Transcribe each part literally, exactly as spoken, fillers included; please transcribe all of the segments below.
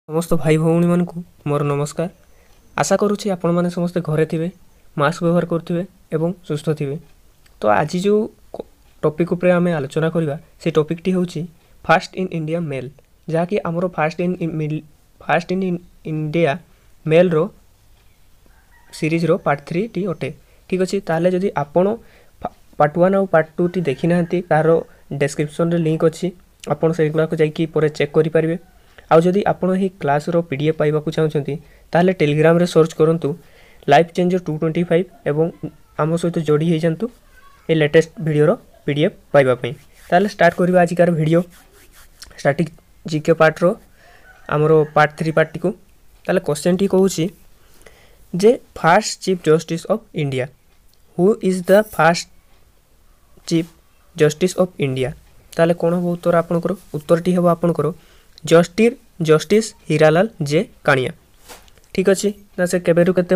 ସମସ୍ତ ଭାଇ ଭଉଣୀମାନଙ୍କୁ ମୋର ନମସ୍କାର। ଆଶା କରୁଛି ଆପଣମାନେ ସମସ୍ତେ ଘରେ ଥିବେ, ମାସ୍କ ବ୍ୟବହାର କରୁଥିବେ ଏବଂ ସୁସ୍ଥ ଥିବେ। ତ ଆଜି ଯେଉଁ ଟପିକ୍ ଉପରେ ଆମେ ଆଲୋଚନା କରିବା, ସେ ଟପିକ୍ଟି ହେଉଛି ଫାଷ୍ଟ ଇନ୍ ଇଣ୍ଡିଆ ମେଲ୍, ଯାହାକି ଆମର fast in fast in India ମେଲ୍ର ସିରିଜ୍ର ପାର୍ଟ ଥ୍ରୀଟି ଅଟେ। ଠିକ୍ ଅଛି, ତାହେଲେ ଯଦି ଆପଣ ପାର୍ଟ ୱାନ୍ ଆଉ ପାର୍ଟ ଟୁଟି ଦେଖିନାହାନ୍ତି, ତାହାର ଡେସ୍କ୍ରିପସନ୍ରେ ଲିଙ୍କ୍ ଅଛି, ଆପଣ ସେଗୁଡ଼ାକ ଯାଇକି ପରେ ଚେକ୍ କରିପାରିବେ। ଆଉ ଯଦି ଆପଣ ଏହି କ୍ଲାସ୍ର ପି ଡି ଏଫ୍ ପାଇବାକୁ ଚାହୁଁଛନ୍ତି, ତାହେଲେ ଟେଲିଗ୍ରାମରେ ସର୍ଚ୍ଚ କରନ୍ତୁ life changer two twenty five ଏବଂ ଆମ ସହିତ ଯୋଡ଼ି ହେଇଯାଆନ୍ତୁ ଏ ଲେଟେଷ୍ଟ ଭିଡ଼ିଓର ପି ଡି ଏଫ୍ ପାଇବା ପାଇଁ। ତାହେଲେ ଷ୍ଟାର୍ଟ କରିବା ଆଜିକାର ଭିଡ଼ିଓ, ଷ୍ଟାଟିକ୍ ଜିକେ ପାର୍ଟର ଆମର ପାର୍ଟ ଥ୍ରୀ ପାର୍ଟଟିକୁ। ତାହେଲେ କ୍ୱେଶ୍ଚନ୍ଟି କହୁଛି ଯେ first Chief Justice of India, who is the first Chief Justice of India? ତାହେଲେ କ'ଣ ହେବ ଉତ୍ତର ଆପଣଙ୍କର? ଉତ୍ତରଟି ହେବ ଆପଣଙ୍କର ଜଷ୍ଟିସ୍ ଜଷ୍ଟିସ୍ ହୀରାଲାଲ ଜେ କାଣିଆ। ଠିକ୍ ଅଛି ନା, ସେ କେବେରୁ କେତେ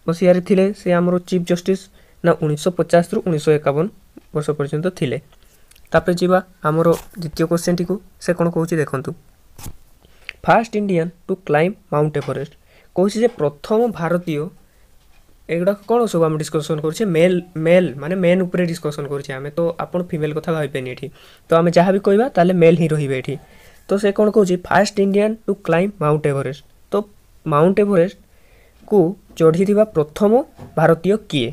ମସିହାରେ ଥିଲେ ସେ ଆମର ଚିଫ୍ ଜଷ୍ଟିସ୍? ନା, ଉଣେଇଶହ ପଚାଶରୁ ଉଣେଇଶହ ଏକାବନ ବର୍ଷ ପର୍ଯ୍ୟନ୍ତ ଥିଲେ। ତାପରେ ଯିବା ଆମର ଦ୍ୱିତୀୟ କ୍ୱେଶ୍ଚନ୍ଟିକୁ। ସେ କ'ଣ କହୁଛି ଦେଖନ୍ତୁ, first Indian to climb Mount Everest। କହୁଛି ଯେ ପ୍ରଥମ ଭାରତୀୟ। ଏଗୁଡ଼ାକ କ'ଣ ସବୁ ଆମେ ଡିସ୍କସନ୍ କରୁଛେ? ମେଲ୍, ମେଲ୍ ମାନେ ମେନ୍ ଉପରେ ଡିସ୍କସନ୍ କରୁଛେ ଆମେ। ତ ଆପଣ ଫିମେଲ୍ କଥା ଭାବିବେନି ଏଠି। ତ ଆମେ ଯାହା ବି କହିବା, ତାହେଲେ ମେଲ୍ ହିଁ ରହିବେ ଏଠି। ତ ସେ କ'ଣ କହୁଛି? First Indian to climb Mount Everest। ତ ମାଉଣ୍ଟ ଏଭରେଷ୍ଟକୁ ଚଢ଼ିଥିବା ପ୍ରଥମ ଭାରତୀୟ କିଏ?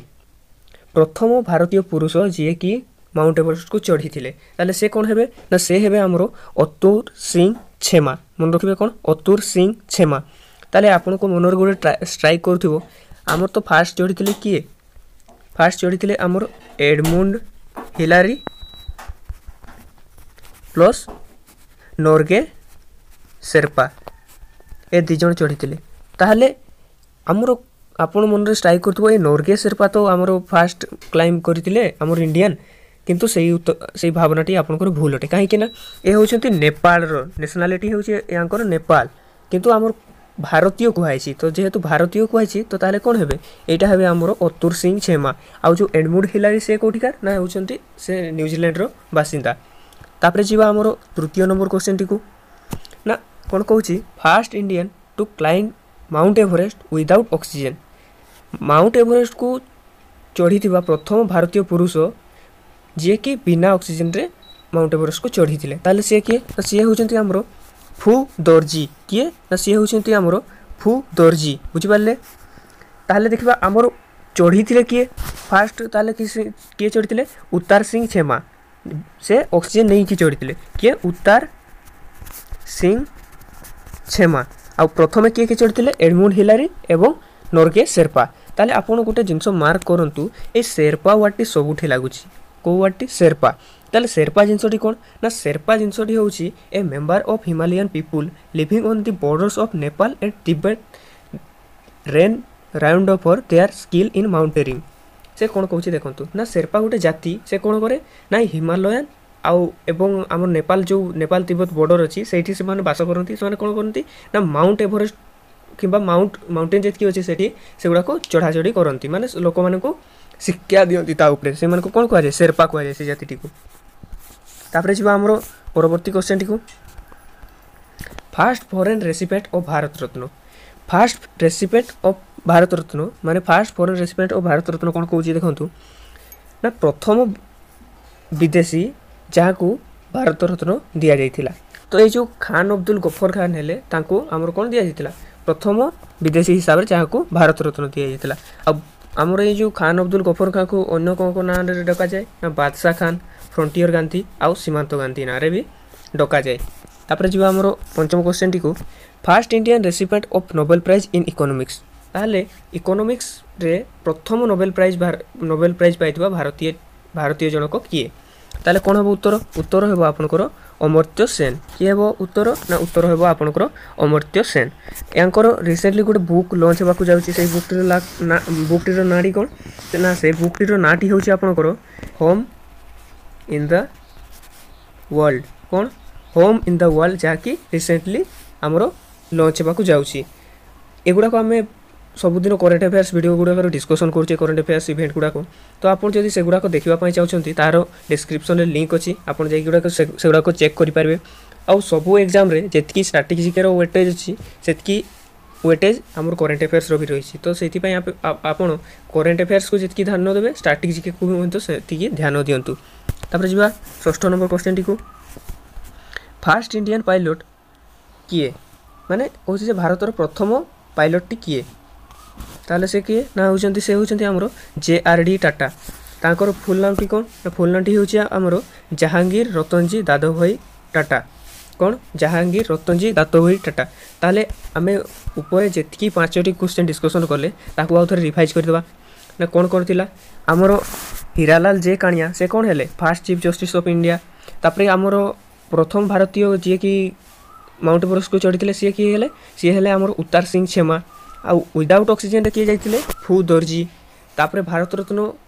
ପ୍ରଥମ ଭାରତୀୟ ପୁରୁଷ ଯିଏକି ମାଉଣ୍ଟ ଏଭରେଷ୍ଟକୁ ଚଢ଼ିଥିଲେ, ତାହେଲେ ସେ କ'ଣ ହେବେ? ନା, ସେ ହେବେ ଆମର ଅତୁର ସିଂ ଛେମା। ମନେ ରଖିବେ, କ'ଣ? ଅତୁର ସିଂ ଛେମା। ତାହେଲେ ଆପଣଙ୍କ ମନରେ ଗୋଟେ ଷ୍ଟ୍ରାଇକ୍ କରୁଥିବ, ଆମର ତ ଫାଷ୍ଟ ଚଢ଼ିଥିଲେ କିଏ? ଫାଷ୍ଟ ଚଢ଼ିଥିଲେ ଆମର ଏଡମୁଣ୍ଡ ହିଲାରୀ ପ୍ଲସ୍ ନୋର୍ଗେ ସେର୍ପା, ଏ ଦୁଇ ଜଣ ଚଢ଼ିଥିଲେ। ତାହେଲେ ଆମର ଆପଣ ମନରେ ଷ୍ଟ୍ରାଇକ୍ କରୁଥିବ, ଏ ନୋର୍ଗେ ସେର୍ପା ତ ଆମର ଫାଷ୍ଟ କ୍ଲାଇମ୍ବ କରିଥିଲେ ଆମର ଇଣ୍ଡିଆନ୍। କିନ୍ତୁ ସେଇ ସେଇ ଭାବନାଟି ଆପଣଙ୍କର ଭୁଲ ଅଟେ। କାହିଁକି ନା ଏ ହେଉଛନ୍ତି ନେପାଳର, ନ୍ୟାସନାଲିଟି ହେଉଛି ୟାଙ୍କର ନେପାଳ, କିନ୍ତୁ ଆମର ଭାରତୀୟ କୁହାଯାଇଛି। ତ ଯେହେତୁ ଭାରତୀୟ କୁହାଯାଇଛି, ତ ତାହେଲେ କ'ଣ ହେବେ? ଏଇଟା ହେବେ ଆମର ଅତୁର ସିଂ ଛେମା। ଆଉ ଯେଉଁ ଏଡମୁଣ୍ଡ ହିଲାରୀ, ସେ କେଉଁଠିକାର? ନା, ହେଉଛନ୍ତି ସେ ନ୍ୟୁଜିଲାଣ୍ଡର ବାସିନ୍ଦା। ତାପରେ ଯିବା ଆମର ତୃତୀୟ ନମ୍ବର କ୍ୱେଶ୍ଚନ୍ଟିକୁ। ନା, କ'ଣ କହୁଛି? First Indian to climb Mount Everest without oxygen। Mount ଏଭରେଷ୍ଟକୁ ଚଢ଼ିଥିବା ପ୍ରଥମ ଭାରତୀୟ ପୁରୁଷ ଯିଏକି ବିନା ଅକ୍ସିଜେନ୍ରେ ମାଉଣ୍ଟ ଏଭରେଷ୍ଟକୁ ଚଢ଼ିଥିଲେ, ତାହେଲେ ସିଏ କିଏ? ନା, ସିଏ ହେଉଛନ୍ତି ଆମର ଫୁ ଦର୍ଜି। କିଏ? ନା, ସିଏ ହେଉଛନ୍ତି ଆମର ଫୁ ଦର୍ଜି। ବୁଝିପାରିଲେ? ତାହେଲେ ଦେଖିବା ଆମର ଚଢ଼ିଥିଲେ କିଏ ଫାଷ୍ଟ। ତାହେଲେ କିଏ ଚଢ଼ିଥିଲେ? ଉତ୍ତାର ସିଂ ଛେମା। ସେ ଅକ୍ସିଜେନ୍ ନେଇକି ଚଢ଼ିଥିଲେ। କିଏ? ଉତ୍ତାର ସିଂ ଛେମା। ଆଉ ପ୍ରଥମେ କିଏ କିଏ ଚଢ଼ିଥିଲେ? ଏଡମୁଣ୍ଡ ହିଲାରୀ ଏବଂ ନୋର୍ଗେ ସେର୍ପା। ତାହେଲେ ଆପଣ ଗୋଟେ ଜିନିଷ ମାର୍କ କରନ୍ତୁ, ଏଇ ସେର୍ପା ୱାର୍ଡ଼ଟି ସବୁଠି ଲାଗୁଛି। କେଉଁ ୱାର୍ଡ଼ଟି? ସେର୍ପା। ତାହେଲେ ସେର୍ପା ଜିନିଷଟି କ'ଣ? ନା, ସେର୍ପା ଜିନିଷଟି ହେଉଛି a member of Himalayan people living on the borders of Nepal and Tibet, renowned for their skill in mountaineering। ସେ କ'ଣ କହୁଛି ଦେଖନ୍ତୁ। ନା, ସେର୍ପା ଗୋଟେ ଜାତି। ସେ କ'ଣ କରେ? ନା, ହିମାଲୟାନ ଆଉ ଏବଂ ଆମ ନେପାଳ, ଯେଉଁ ନେପାଳ ତିବ୍ବତ ବର୍ଡ଼ର ଅଛି, ସେଇଠି ସେମାନେ ବାସ କରନ୍ତି। ସେମାନେ କ'ଣ କରନ୍ତି? ନା, ମାଉଣ୍ଟ ଏଭରେଷ୍ଟ କିମ୍ବା ମାଉଣ୍ଟ ମାଉଣ୍ଟେନ୍ ଯେତିକି ଅଛି ସେଠି, ସେଗୁଡ଼ାକୁ ଚଢ଼ାଚଢ଼ି କରନ୍ତି, ମାନେ ଲୋକମାନଙ୍କୁ ଶିକ୍ଷା ଦିଅନ୍ତି ତା ଉପରେ। ସେମାନଙ୍କୁ କ'ଣ କୁହାଯାଏ? ସେର୍ପା କୁହାଯାଏ ସେ ଜାତିଟିକୁ। ତାପରେ ଯିବା ଆମର ପରବର୍ତ୍ତୀ କ୍ୱେଶ୍ଚନ୍ଟିକୁ। First foreign recipient of Bharat Ratna। First recipient of Bharat Ratna ମାନେ first foreign recipient of Bharat Ratna କ'ଣ କହୁଛି ଦେଖନ୍ତୁ। ନା, ପ୍ରଥମ ବିଦେଶୀ ଯାହାକୁ ଭାରତ ରତ୍ନ ଦିଆଯାଇଥିଲା। ତ ଏଇ ଯେଉଁ ଖାନ ଅବଦୁଲ ଗଫର ଖାନ ହେଲେ, ତାଙ୍କୁ ଆମର କ'ଣ ଦିଆଯାଇଥିଲା? ପ୍ରଥମ ବିଦେଶୀ ହିସାବରେ ଯାହାକୁ ଭାରତ ରତ୍ନ ଦିଆଯାଇଥିଲା। ଆଉ ଆମର ଏଇ ଯେଉଁ ଖାନ ଅବଦୁଲ ଗଫର ଖାନକୁ ଅନ୍ୟ କ'ଣ କ'ଣ ନାଁରେ ଡକାଯାଏ? ନା, ବାଦଶାହ ଖାନ, ଫ୍ରଣ୍ଟିୟର ଗାନ୍ଧୀ ଆଉ ସୀମାନ୍ତ ଗାନ୍ଧୀ ନାଁରେ ବି ଡକାଯାଏ। ତାପରେ ଯିବା ଆମର ପଞ୍ଚମ କ୍ୱେଶ୍ଚନ୍ଟିକୁ। First Indian recipient of Nobel Prize in Economics। ତାହେଲେ ଇକୋନୋମିକ୍ସରେ ପ୍ରଥମ ନୋବେଲ ପ୍ରାଇଜ୍ ନୋବେଲ ପ୍ରାଇଜ୍ ପାଇଥିବା ଭାରତୀୟ ଭାରତୀୟ ଜଣକ କିଏ? ତାହେଲେ କ'ଣ ହେବ ଉତ୍ତର? ଉତ୍ତର ହେବ ଆପଣଙ୍କର ଅମର୍ତ୍ୟ ସେନ। କିଏ ହେବ ଉତ୍ତର? ନା, ଉତ୍ତର ହେବ ଆପଣଙ୍କର ଅମର୍ତ୍ୟ ସେନ। ୟାଙ୍କର ରିସେଣ୍ଟଲି ଗୋଟେ ବୁକ୍ ଲଞ୍ଚ ହେବାକୁ ଯାଉଛି। ସେଇ ବୁକ୍ଟିର ନା ବୁକ୍ଟିର ନାଁଟି କ'ଣ? ନା, ସେ ବୁକ୍ଟିର ନାଁଟି ହେଉଛି ଆପଣଙ୍କର ହୋମ୍ ଇନ୍ the world. କ'ଣ? ହୋମ୍ ଇନ୍ the world, ଯାହାକି ରିସେଣ୍ଟଲି ଆମର ଲଞ୍ଚ ହେବାକୁ ଯାଉଛି। ଏଗୁଡ଼ାକ ଆମେ ସବୁଦିନ କରେଣ୍ଟ ଆଫେୟାର୍ସ ଭିଡ଼ିଓ ଗୁଡ଼ାକରେ ଡିସ୍କସନ୍ କରୁଛେ, କରେଣ୍ଟ ଆଫେୟାର୍ସ ଇଭେଣ୍ଟ ଗୁଡ଼ାକ। ତ ଆପଣ ଯଦି ସେଗୁଡ଼ାକ ଦେଖିବା ପାଇଁ ଚାହୁଁଛନ୍ତି, ତା'ର ଡିସ୍କ୍ରିପ୍ସନ୍ରେ ଲିଙ୍କ୍ ଅଛି, ଆପଣ ଯାଇକି ଗୁଡ଼ାକ ସେଗୁଡ଼ାକ ଚେକ୍ କରିପାରିବେ। ଆଉ ସବୁ ଏକ୍ଜାମ୍ରେ ଯେତିକି ଷ୍ଟାଟିକ୍ ଜିକେର ୱେଟେଜ୍ ଅଛି ସେତିକି ୱେଟେଜ୍ ଆମର କରେଣ୍ଟ ଆଫେୟାର୍ସର ବି ରହିଛି ତ ସେଇଥିପାଇଁ ଆପଣ କରେଣ୍ଟ ଆଫେୟାର୍ସକୁ ଯେତିକି ଧ୍ୟାନ ଦେବେ ଷ୍ଟାଟିକ୍ ଜିକେକୁ ବି ମଧ୍ୟ ସେତିକି ଧ୍ୟାନ ଦିଅନ୍ତୁ ତାପରେ ଯିବା ଷଷ୍ଠ ନମ୍ବର କ୍ୱେଶ୍ଚନଟିକୁ ଫାଷ୍ଟ ଇଣ୍ଡିଆନ୍ ପାଇଲଟ୍ କିଏ ମାନେ କହୁଛି ଯେ ଭାରତର ପ୍ରଥମ ପାଇଲଟଟି କିଏ ତାହେଲେ ସେ କିଏ ନା ହେଉଛନ୍ତି ସେ ହେଉଛନ୍ତି ଆମର ଜେ ଆର୍ ଡି ଟାଟା ତାଙ୍କର ଫୁଲ୍ ନାମଟି କ'ଣ ନା ଫୁଲ୍ ନାମଟି ହେଉଛି ଆମର ଜାହାଙ୍ଗୀର ରତନଜୀ ଦାଦାଭାଇ ଟାଟା କ'ଣ ଜାହାଙ୍ଗୀର ରତନଜୀ ଦାଦାଭାଇ ଟାଟା ତାହେଲେ ଆମେ ଉପରେ ଯେତିକି ପାଞ୍ଚଟି କ୍ୱେଶ୍ଚନ୍ ଡିସ୍କସନ୍ କଲେ ତାକୁ ଆଉ ଥରେ ରିଭାଇଜ୍ କରିଦେବା ନା କ'ଣ କ'ଣ ଥିଲା ଆମର ହୀରାଲାଲ ଜେ କାଣିଆ ସେ କ'ଣ ହେଲେ first Chief Justice of India ତାପରେ ଆମର ପ୍ରଥମ ଭାରତୀୟ ଯିଏକି ମାଉଣ୍ଟ ଏଭରେଷ୍ଟକୁ ଚଢ଼ିଥିଲେ ସିଏ କିଏ ହେଲେ ସିଏ ହେଲେ ଆମର ଉତ୍ତାର ସିଂ ଛେମା ଆଉ ୱିଦାଉଟ୍ ଅକ୍ସିଜେନ୍ରେ କିଏ ଯାଇଥିଲେ ଫୁ ଦର୍ଜି ତାପରେ ଭାରତ ରତ୍ନ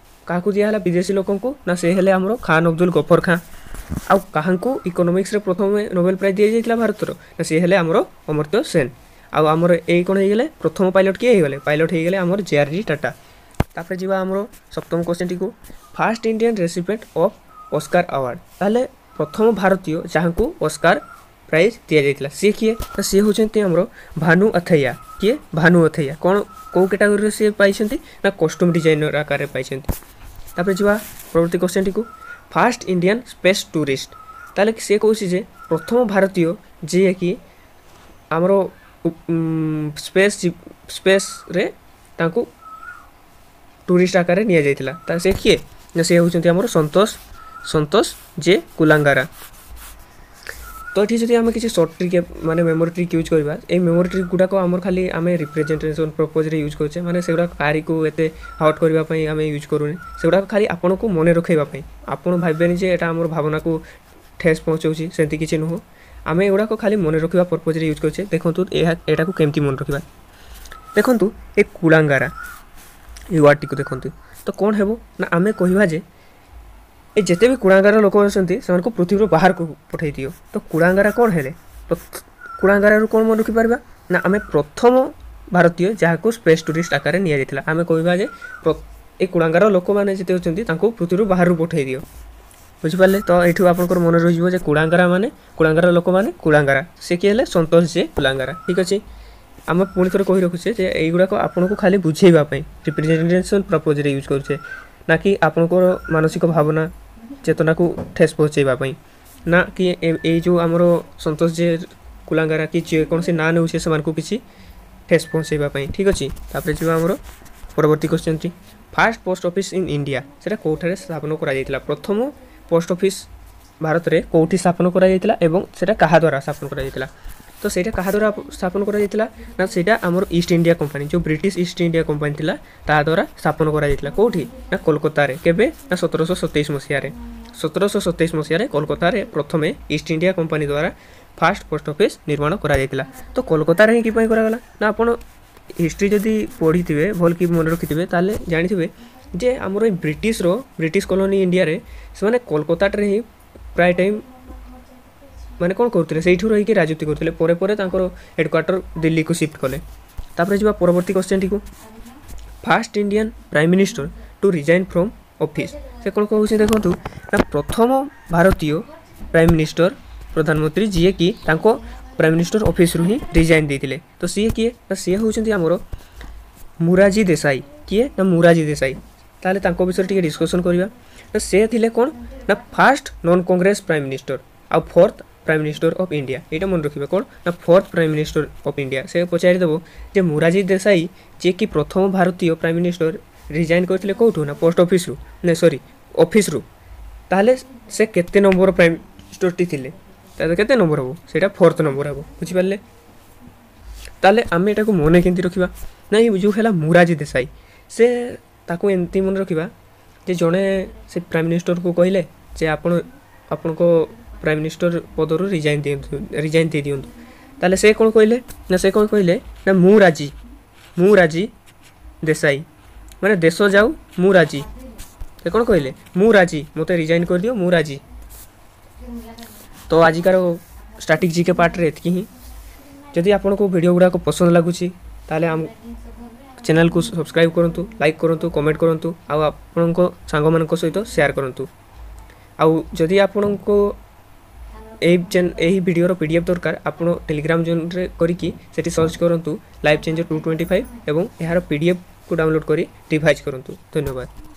କାହାକୁ ଦିଆହେଲା ବିଦେଶୀ ଲୋକଙ୍କୁ ନା ସେ ହେଲେ ଆମର ଖାନ ଅବଦୁଲ ଗଫର ଖାଁ ଆଉ କାହାଙ୍କୁ ଇକୋନୋମିକ୍ସରେ ପ୍ରଥମେ ନୋବେଲ ପ୍ରାଇଜ୍ ଦିଆଯାଇଥିଲା ଭାରତର ନା ସିଏ ହେଲେ ଆମର ଅମର୍ତ୍ୟ ସେନ ଆଉ ଆମର ଏଇ କ'ଣ ହେଇଗଲେ ପ୍ରଥମ ପାଇଲଟ୍ କିଏ ହେଇଗଲେ ପାଇଲଟ୍ ହେଇଗଲେ ଆମର ଜେ ଆର୍ ଡି ଟାଟା ତାପରେ ଯିବା ଆମର ସପ୍ତମ କ୍ୱେଶ୍ଚନଟିକୁ First Indian recipient of Oscar Award ତାହେଲେ ପ୍ରଥମ ଭାରତୀୟ ଯାହାଙ୍କୁ ଅସ୍କାର ପ୍ରାଇଜ୍ ଦିଆଯାଇଥିଲା ସିଏ କିଏ ନା ସିଏ ହେଉଛନ୍ତି ଆମର ଭାନୁ ଅଥୈୟା କିଏ ଭାନୁ ଅଥୈୟା କ'ଣ କେଉଁ କ୍ୟାଟାଗୋରୀରେ ସିଏ ପାଇଛନ୍ତି ନା କଷ୍ଟ୍ୟୁମ୍ ଡିଜାଇନର ଆକାରରେ ପାଇଛନ୍ତି ତାପରେ ଯିବା ପରବର୍ତ୍ତୀ କ୍ୱେଶ୍ଚନଟିକୁ ଫାଷ୍ଟ ଇଣ୍ଡିଆନ୍ ସ୍ପେସ୍ ଟୁରିଷ୍ଟ ତାହେଲେ ସିଏ କହୁଛି ଯେ ପ୍ରଥମ ଭାରତୀୟ ଯିଏକି ଆମର ସ୍ପେସ୍ ସ୍ପେସ୍ରେ ତାଙ୍କୁ ଟୁରିଷ୍ଟ ଆକାରରେ ନିଆଯାଇଥିଲା ତା ସେ କିଏ ନା ସେ ହେଉଛନ୍ତି ଆମର ସନ୍ତୋଷ ସନ୍ତୋଷ ଜେ କୁଲାଙ୍ଗାରା ତ ଏଠି ଯଦି ଆମେ କିଛି ସର୍ଟ ଟ୍ରିକ୍ ମାନେ ମେମୋରି ଟ୍ରିକ୍ ୟୁଜ୍ କରିବା ଏଇ ମେମୋରି ଟ୍ରିକ୍ ଗୁଡ଼ାକ ଆମର ଖାଲି ଆମେ ରିପ୍ରେଜେଣ୍ଟେସନ୍ ପର୍ପଜ୍ରେ ୟୁଜ୍ କରୁଛେ ମାନେ ସେଗୁଡ଼ାକ କାହାରିକୁ ଏତେ ହର୍ଟ କରିବା ପାଇଁ ଆମେ ୟୁଜ୍ କରୁନେ ସେଗୁଡ଼ାକ ଖାଲି ଆପଣଙ୍କୁ ମନେ ରଖାଇବା ପାଇଁ ଆପଣ ଭାବିବେନି ଯେ ଏଇଟା ଆମର ଭାବନାକୁ ଠେସ୍ ପହଞ୍ଚଉଛି ସେମିତି କିଛି ନୁହଁ ଆମେ ଏଗୁଡ଼ାକ ଖାଲି ମନେ ରଖିବା ପର୍ପଜ୍ରେ ୟୁଜ୍ କରୁଛେ ଦେଖନ୍ତୁ ଏହା ଏଟାକୁ କେମିତି ମନେ ରଖିବା ଦେଖନ୍ତୁ ଏ କୁଳାଙ୍ଗାରା ଏଇ ୱାର୍ଡ଼ଟିକୁ ଦେଖନ୍ତୁ ତ କ'ଣ ହେବ ନା ଆମେ କହିବା ଯେ ଏ ଯେତେ ବି କୁଳାଙ୍ଗାର ଲୋକ ଅଛନ୍ତି ସେମାନଙ୍କୁ ପୃଥିବୀରୁ ବାହାରକୁ ପଠାଇ ଦିଅ ତ କୁଳାଙ୍ଗାରା କ'ଣ ହେଲେ କୁଳାଙ୍ଗାରାରୁ କ'ଣ ମନେ ରଖିପାରିବା ନା ଆମେ ପ୍ରଥମ ଭାରତୀୟ ଯାହାକୁ ସ୍ପେସ୍ ଟୁରିଷ୍ଟ ଆକାରରେ ନିଆଯାଇଥିଲା ଆମେ କହିବା ଯେ ଏ କୁଳାଙ୍ଗାର ଲୋକମାନେ ଯେତେ ଅଛନ୍ତି ତାଙ୍କୁ ପୃଥିବୀରୁ ବାହାରକୁ ପଠାଇ ଦିଅ ବୁଝିପାରିଲେ ତ ଏଇଠୁ ଆପଣଙ୍କର ମନେ ରହିଯିବ ଯେ କୁଳାଙ୍ଗାରା ମାନେ କୁଳାଙ୍ଗାର ଲୋକମାନେ କୁଳାଙ୍ଗାରା ସେ କିଏ ହେଲେ ସନ୍ତୋଷ ଜେ କୁଳାଙ୍ଗାରା ଠିକ୍ ଅଛି ଆମେ ପୁଣି ଥରେ କହି ରଖୁଛେ ଯେ ଏଇଗୁଡ଼ାକ ଆପଣଙ୍କୁ ଖାଲି ବୁଝେଇବା ପାଇଁ ରିପ୍ରେଜେଣ୍ଟେସନ୍ ପର୍ପଜ୍ରେ ୟୁଜ୍ କରୁଛେ ନା କି ଆପଣଙ୍କର ମାନସିକ ଭାବନା ଚେତନାକୁ ଠେସ୍ ପହଞ୍ଚେଇବା ପାଇଁ ନା କି ଏଇ ଯେଉଁ ଆମର ସନ୍ତୋଷ ଜେ କୁଲାଙ୍ଗାରା କି ଯେକୌଣସି ନାଁ ନେଉଛି ସେମାନଙ୍କୁ କିଛି ଠେସ୍ ପହଞ୍ଚେଇବା ପାଇଁ ଠିକ୍ ଅଛି ତାପରେ ଯିବା ଆମର ପରବର୍ତ୍ତୀ କ୍ୱେଶ୍ଚନ୍ଟି First post office in India ସେଇଟା କେଉଁଠାରେ ସ୍ଥାପନ କରାଯାଇଥିଲା ପ୍ରଥମ ପୋଷ୍ଟ ଅଫିସ୍ ଭାରତରେ କେଉଁଠି ସ୍ଥାପନ କରାଯାଇଥିଲା ଏବଂ ସେଇଟା କାହା ଦ୍ୱାରା ସ୍ଥାପନ କରାଯାଇଥିଲା ତ ସେଇଟା କାହା ଦ୍ୱାରା ସ୍ଥାପନ କରାଯାଇଥିଲା ନା ସେଇଟା ଆମର ଇଷ୍ଟ ଇଣ୍ଡିଆ କମ୍ପାନୀ ଯେଉଁ ବ୍ରିଟିଶ ଇଷ୍ଟ ଇଣ୍ଡିଆ କମ୍ପାନୀ ଥିଲା ତାହା ଦ୍ୱାରା ସ୍ଥାପନ କରାଯାଇଥିଲା କେଉଁଠି ନା କୋଲକାତାରେ କେବେ ନା ସତରଶହ ସତେଇଶ ମସିହାରେ ସତରଶହ ସତେଇଶ ମସିହାରେ କୋଲକାତାରେ ପ୍ରଥମେ ଇଷ୍ଟ ଇଣ୍ଡିଆ କମ୍ପାନୀ ଦ୍ୱାରା ଫାଷ୍ଟ ପୋଷ୍ଟ ଅଫିସ୍ ନିର୍ମାଣ କରାଯାଇଥିଲା ତ କୋଲକାତାରେ ହିଁ କିପାଇଁ କରାଗଲା ନା ଆପଣ ହିଷ୍ଟ୍ରି ଯଦି ପଢ଼ିଥିବେ ଭଲ କି ମନେ ରଖିଥିବେ ତାହେଲେ ଜାଣିଥିବେ ଯେ ଆମର ଏଇ ବ୍ରିଟିଶର ବ୍ରିଟିଶ କଲୋନୀ ଇଣ୍ଡିଆରେ ସେମାନେ କୋଲକାତାରେ ହିଁ ପ୍ରାୟ ଟାଇମ୍ ମାନେ କ'ଣ କରୁଥିଲେ ସେଇଠୁ ରହିକି ରାଜୁତି କରୁଥିଲେ ପରେ ପରେ ତାଙ୍କର ହେଡ଼କ୍ୱାର୍ଟର ଦିଲ୍ଲୀକୁ ସିଫ୍ଟ କଲେ ତାପରେ ଯିବା ପରବର୍ତ୍ତୀ କ୍ୱେଶ୍ଚନଟିକୁ First Indian Prime Minister to resign from office ସେ କ'ଣ କହୁଛି ଦେଖନ୍ତୁ ନା ପ୍ରଥମ ଭାରତୀୟ ପ୍ରାଇମ୍ ମିନିଷ୍ଟର ପ୍ରଧାନମନ୍ତ୍ରୀ ଯିଏକି ତାଙ୍କ ପ୍ରାଇମ୍ ମିନିଷ୍ଟର ଅଫିସରୁ ହିଁ ରିଜାଇନ୍ ଦେଇଥିଲେ ତ ସିଏ କିଏ ନା ସିଏ ହେଉଛନ୍ତି ଆମର ମୁରାଜୀ ଦେଶାଇ କିଏ ନା ମୁରାଜୀ ଦେଶାଇ ତାହେଲେ ତାଙ୍କ ବିଷୟରେ ଟିକେ ଡିସ୍କସନ୍ କରିବା ନା ସେ ଥିଲେ କ'ଣ ନା first non Congress Prime Minister ଆଉ fourth Prime Minister of India ଏଇଟା ମନେ ରଖିବେ କ'ଣ ନା fourth Prime Minister of India ସେ ପଚାରିଦେବ ଯେ ମୁରାଜୀ ଦେଶାଇ ଯିଏକି ପ୍ରଥମ ଭାରତୀୟ ପ୍ରାଇମ୍ ମିନିଷ୍ଟର ରିଜାଇନ୍ କରିଥିଲେ କେଉଁଠୁ ନା ପୋଷ୍ଟ ଅଫିସରୁ ନା ସରି ଅଫିସରୁ ତାହେଲେ ସେ କେତେ ନମ୍ବର ପ୍ରାଇମ୍ ମିନିଷ୍ଟରଟି ଥିଲେ ତାହେଲେ କେତେ ନମ୍ବର ହେବ ସେଇଟା ଫୋର୍ଥ ନମ୍ବର ହେବ ବୁଝିପାରିଲେ ତାହେଲେ ଆମେ ଏଟାକୁ ମନେ କେମିତି ରଖିବା ନା ଏଇ ଯେଉଁ ହେଲା ମୁରାଜୀ ଦେଶାଇ ସେ ତାକୁ ଏମିତି ମନେ ରଖିବା ଯେ ଜଣେ ସେ ପ୍ରାଇମ୍ ମିନିଷ୍ଟରକୁ କହିଲେ ଯେ ଆପଣ ଆପଣଙ୍କ ପ୍ରାଇମ୍ ମିନିଷ୍ଟର ପଦରୁ ରିଜାଇନ୍ ଦିଅନ୍ତୁ ରିଜାଇନ୍ ଦେଇ ଦିଅନ୍ତୁ ତାହେଲେ ସେ କ'ଣ କହିଲେ ନା ସେ କ'ଣ କହିଲେ ନା ମୁଁ ରାଜି ମୁଁ ରାଜି ଦେଶାଇ ମାନେ ଦେଶ ଯାଉ ମୁଁ ରାଜି ସେ କ'ଣ କହିଲେ ମୁଁ ରାଜି ମୋତେ ରିଜାଇନ୍ କରିଦିଅ ମୁଁ ରାଜି ତ ଆଜିକାର ଷ୍ଟାଟିକ୍ ଜିକେ ପାର୍ଟରେ ଏତିକି ହିଁ ଯଦି ଆପଣଙ୍କୁ ଭିଡ଼ିଓ ଗୁଡ଼ାକ ପସନ୍ଦ ଲାଗୁଛି ତାହେଲେ ଆମ ଚ୍ୟାନେଲକୁ ସବସ୍କ୍ରାଇବ୍ କରନ୍ତୁ ଲାଇକ୍ କରନ୍ତୁ କମେଣ୍ଟ କରନ୍ତୁ ଆଉ ଆପଣଙ୍କ ସାଙ୍ଗମାନଙ୍କ ସହିତ ସେୟାର କରନ୍ତୁ ଆଉ ଯଦି ଆପଣଙ୍କୁ ଏହି ଏହି ଭିଡ଼ିଓର ପି ଡି ଏଫ୍ ଦରକାର ଆପଣ ଟେଲିଗ୍ରାମ ଜଏନ୍ରେ କରିକି ସେଠି ସର୍ଚ୍ଚ କରନ୍ତୁ life changer two twenty five ଏବଂ ଏହାର ପି ଡି ଏଫ୍କୁ ଡାଉନଲୋଡ଼୍ କରି ରିଭାଇଜ୍ କରନ୍ତୁ ଧନ୍ୟବାଦ